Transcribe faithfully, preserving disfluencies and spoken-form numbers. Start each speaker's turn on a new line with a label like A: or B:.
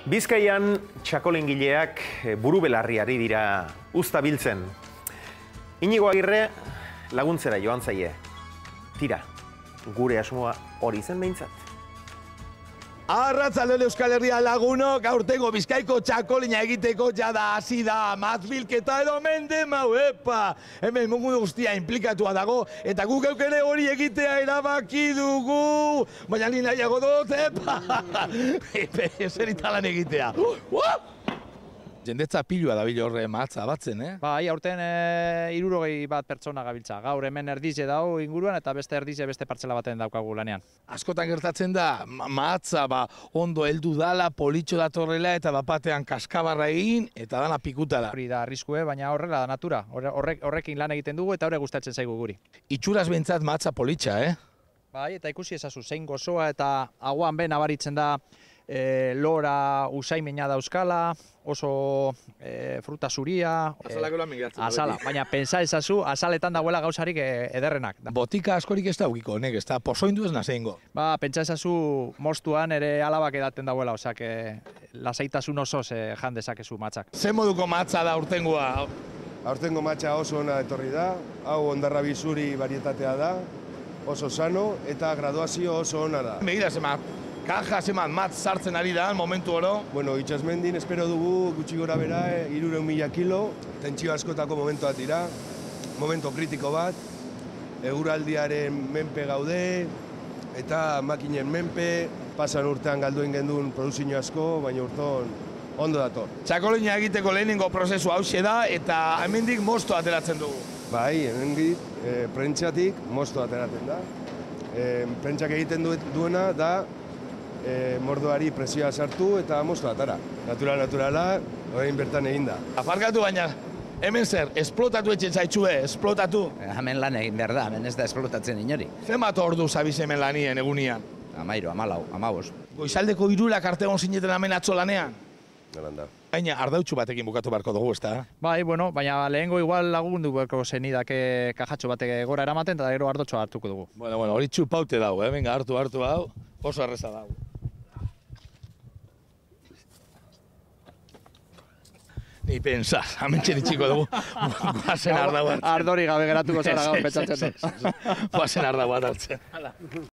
A: Bizkaian txakolingileak buru belarri ari dira uzta biltzen. Inigo Agirre laguntzera joan zaie. Tira, gure asmoa hori zen behintzat.
B: Arratzalde Euskal Herria lagunok, aurtengo Bizkaiko txakolina egiteko jada hasi da mazbilketa edo mende mau, epa! Hemen mundu guztia inplikatua dago, eta guk geuk ere hori egitea erabaki dugu! Baina ni nahiago dut, epa! Ezer italan egitea. Jendetza pilua dabil horre matza batzen, eh?
C: Bai, aurten e, hirurogei bat pertsona gabiltza. Gaur hemen erdize dago inguruan eta beste erdize beste partzela baten daukagu lanean.
B: Askotan gertatzen da, matza ba, ondo heldu dala, politxo datorrela eta bapatean kaskabarra egin eta dana pikutara.
C: Hori da arriskue, baina horrela da natura. Horrek, horrekin lan egiten dugu eta horrek gustatzen zaigu guri.
B: Itxuraz behintzat matza politxa, eh?
C: Bai, eta ikusi ezazu, zein gozoa eta aguan ben nabaritzen da e, lora usaimena dauzkala, oso e, fruta zuria.
B: Azalako lan migratzen.
C: Azala, baina pensa ezazu, azaletan dagoela gauzarik e, ederrenak.
B: Botika askorik ez da ugiko, honek, ez da pozoindu ez nazeingo.
C: Ba, pentsa ezazu mostuan ere alabak edaten dauela, osak e, lasaitasun osoz e, jan dezakezu matzak.
B: Zer moduko matza da aurtengoa?
D: Aurtengo matza oso ona etorri da, hau ondarrabi zuri varietatea da, oso sano eta graduazio oso ona da.
B: Begira, zema, kaja zeman matz sartzen ari da, momentu oro.
D: Bueno, itxasmendin espero dugu gutxi gora bera, hirurehun mila kilo, tentsio askotako momentuak dira, momento kritiko bat, eguraldiaren menpe gaude, eta makinen menpe, pasan urtean galduen gendun produzio asko, baina urton ondo dator.
B: Txakolina egiteko lehenengo prozesu hauxe da, eta hemendik mosto ateratzen dugu.
D: Bai, hemendik e, prentxatik mosto ateratzen da. E, prentxak egiten duena da e, mordoari presioa sartu eta mosto atara. Natural, naturala, orain bertan egin da.
B: Aparkatu baina, hemen zer, esplotatu etxen zaitxue, esplotatu.
E: Hemen lan egin behar da, hemen ez da esplotatzen inori.
B: Zenbat ordu zabiz hemen lanien egunian?
E: Amairo, amalau, amabos.
B: Goizaldeko hirurak arte egon zineten hemen atzo lanean?
D: Galanda.
B: Baina ardautxu batekin bukatu beharko dugu, ez da?
C: Bai, bueno, baina lehengo igual lagundu beharko zenidake kajatxo batek gora eramaten eta gero ardotxoa hartuko dugu.
B: Bueno, bueno, hori txupaute dago, eh? Venga, hartu, hartu hau, oso erreza dago. Ni pensa, amentxe ditxiko dugu, guazen ardau hartzen.
C: Ardori gabe geratuko zara gaur petxatzen.
B: Guazen ardau hartzen.